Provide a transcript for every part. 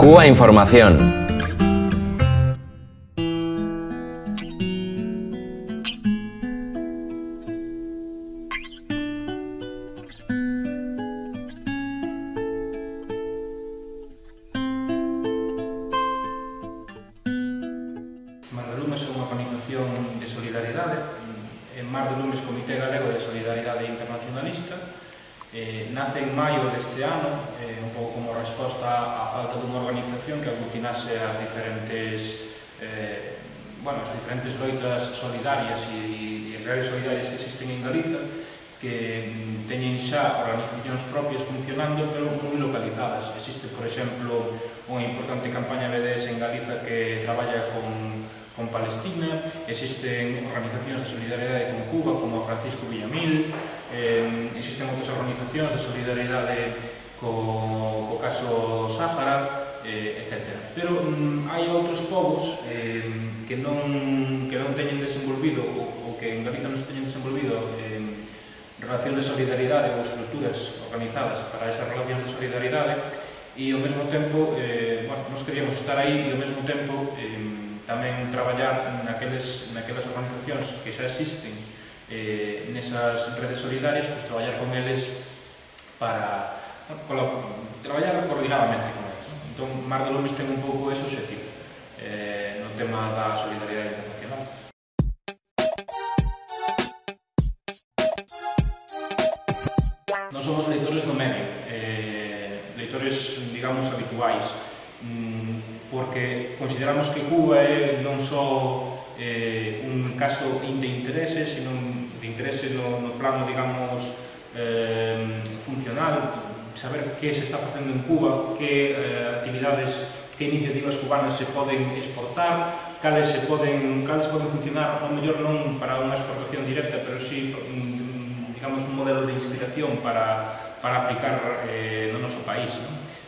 Cuba Información. Mar de Lumes é unha organización de solidariedade, en Mar de Lumes Comité Galego de Solidariedade Internacionalista. Nace en maio deste ano, un pouco como resposta á falta dunha organización que aglutinase as diferentes loitas solidarias e redes solidarias que existen en Galiza, que teñen xa organizacións propias funcionando, pero moi localizadas. Existe, por exemplo, unha importante campaña BDS en Galiza que traballa con Palestina, existen organizacións de solidariedade con Cuba, como a Francisco Villamil, existen outras organizacións de solidariedade co caso Sáhara, etc. Pero hai outros povos que non teñen desenvolvido, ou que en Galiza non se teñen desenvolvido relacións de solidariedade ou estruturas organizadas para esas relacións de solidariedade, e ao mesmo tempo, nos queríamos estar aí e ao mesmo tempo tamén traballar naquelas organizacións que xa existen nesas redes solidarias, pues traballar con eles para traballar coordinadamente con eles. Entón, Mar de Lumes ten un pouco ese objetivo no tema da solidariedade internacional. Non somos leitores do medio, leitores, digamos, habituais, porque consideramos que Cuba é non só un caso de interese, sino de interese no plano, digamos, funcional, saber que se está facendo en Cuba, que actividades, que iniciativas cubanas se poden exportar, cales poden funcionar, ao mellor non para unha exportación directa, pero sí, digamos, un modelo de inspiración para aplicar no noso país.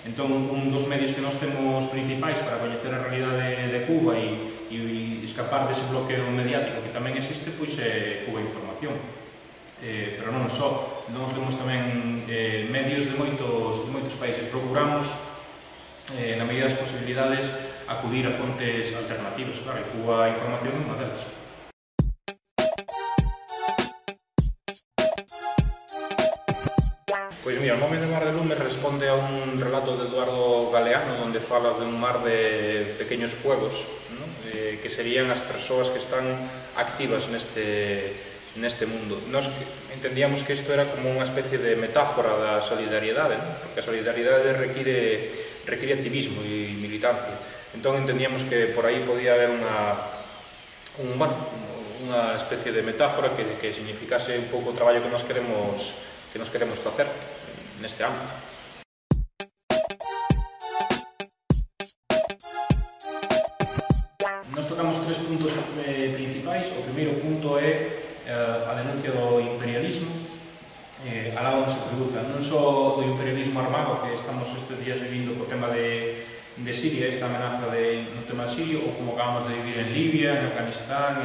Entón, un dos medios que nós temos principais para coñecer a realidade de Cuba e escapar dese bloqueo mediático que tamén existe, pois é Cuba Información. Pero non só, nós temos tamén medios de moitos países. Procuramos, na medida das posibilidades, acudir a fontes alternativas. Claro, e Cuba Información é unha delas. Pois mira, o nome de Mar de Lumes responde a un relato de Eduardo Galeano, onde fala de un mar de pequeños fuegos, ¿no? Que serían as persoas que están activas neste mundo. Nós entendíamos que isto era como unha especie de metáfora da solidariedade, ¿no? Porque a solidariedade require activismo e militancia. Entón entendíamos que por aí podía haber unha especie de metáfora que significase un pouco o traballo que nos queremos facer neste ámbito. Nos tocamos tres puntos principais. O primeiro punto é a denuncia do imperialismo, alá onde se produza, non só do imperialismo armado que estamos estes días vivindo co tema de Siria, esta amenaza no tema sirio, ou como acabamos de vivir en Libia, en Afganistán,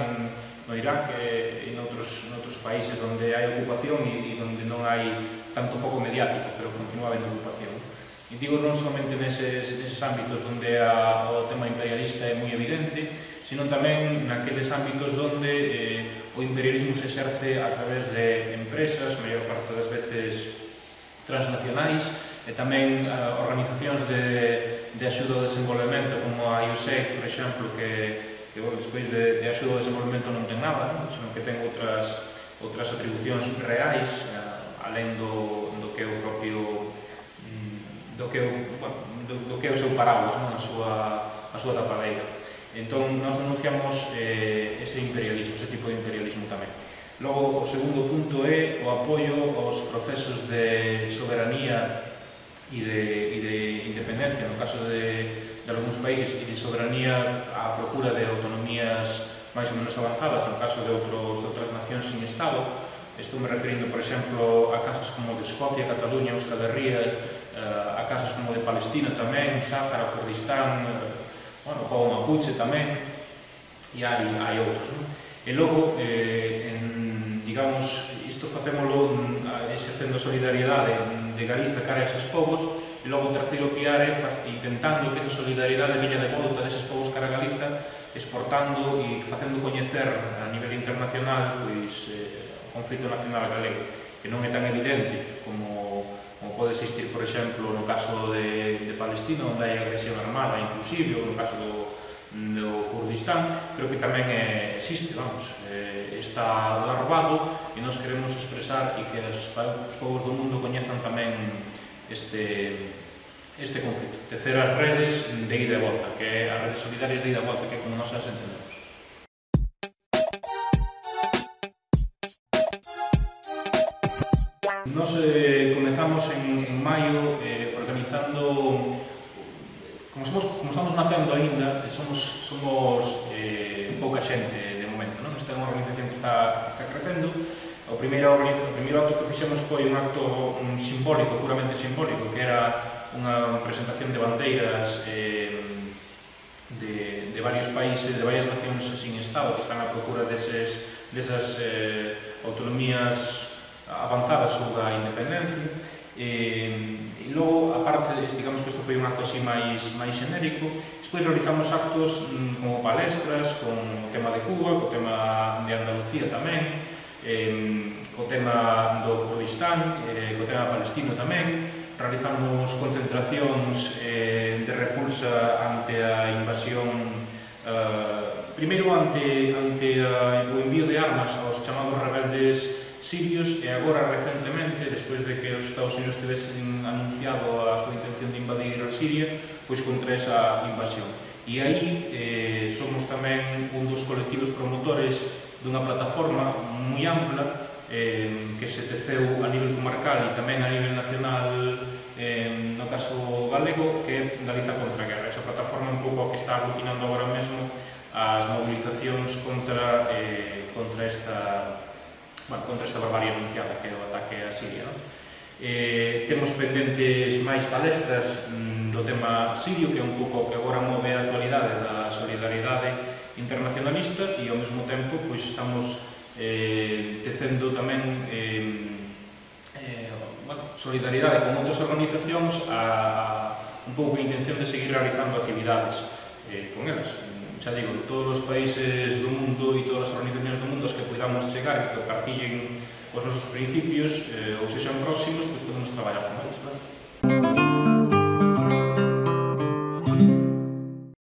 no Irak e noutros países onde hai ocupación e onde non hai tanto foco mediático, pero continúa habendo ocupación. E digo non somente neses ámbitos onde o tema imperialista é moi evidente, sino tamén naqueles ámbitos onde o imperialismo se exerce a través de empresas, a maior parte das veces transnacionais, e tamén organizacións de axuda ao desenvolvemento, como a USAID, por exemplo, que despois de axuda ao desenvolvemento non ten nada, senón que ten outras atribucións reais, alén do que é o propio do que é o seu paraguas, a súa tapadeira. Entón, nós denunciamos ese imperialismo, ese tipo de imperialismo tamén. Logo, o segundo punto é o apoio aos procesos de soberanía e de independencia, no caso de algúns países, e de soberanía á procura de autonomías máis ou menos avanzadas, no caso de outras nacións sin Estado. Estou me referindo, por exemplo, a casos como de Escocia, Cataluña, Euskal Herria, a casos como de Palestina tamén, Sáhara, Kurdistán, o Mapuche tamén, e hai outros. E logo, digamos, isto facémolo exercendo solidariedade de Galiza cara a eses povos, e e logo o terceiro piar é intentando que esa solidaridade veña de volta deses povos cara a Galiza, exportando e facendo coñecer a nivel internacional pois, o conflito nacional galego, que non é tan evidente como pode existir, por exemplo, no caso de Palestina, onde hai agresión armada, inclusive, ou no caso do Kurdistán, pero que tamén existe, vamos, está larvado e nos queremos expresar e que os povos do mundo coñezan tamén este conflito. Tecer as redes de ida e volta, que é as redes solidarias de ida e volta, que é como nos as entendemos. Nos comezamos en maio organizando, como estamos nacendo aínda, somos pouca xente de momento, non? Esta é unha organización que está crecendo. O primeiro acto que fixemos foi un acto simbólico, puramente simbólico, que era unha presentación de bandeiras de varios países, de varias nacións sin Estado que están á procura desas autonomías avanzadas sobre a independencia. E logo, aparte, digamos que isto foi un acto así máis xenérico, despois realizamos actos como palestras con o tema de Cuba, co tema de Andalucía tamén, co tema do Kurdistán, co tema palestino tamén. Realizamos concentracións de repulsa ante a invasión, primeiro ante o envío de armas aos chamados rebeldes sirios, e agora recentemente, despois de que os Estados Unidos tivesen anunciado a súa intención de invadir a Siria, pois contra esa invasión. E aí somos tamén un dos colectivos promotores dunha plataforma moi ampla que se teceu a nivel comarcal e tamén a nivel nacional, no caso galego, que é Galiza contra a Guerra. Esa plataforma un pouco que está aglutinando agora mesmo as movilizacións contra esta barbarie anunciada, que é o ataque a Siria. Temos pendentes máis palestras do tema sirio, que é un pouco que agora move a actualidade da solidaridade internacionalista, e ao mesmo tempo estamos tecendo tamén solidaridade con outras organizacións un pouco a intención de seguir realizando actividades con elas. Xa digo, todos os países do mundo e todas as organizacións do mundo aos que podamos chegar e que partillen os nosos principios ou sexan próximos, pois podemos traballar con eles.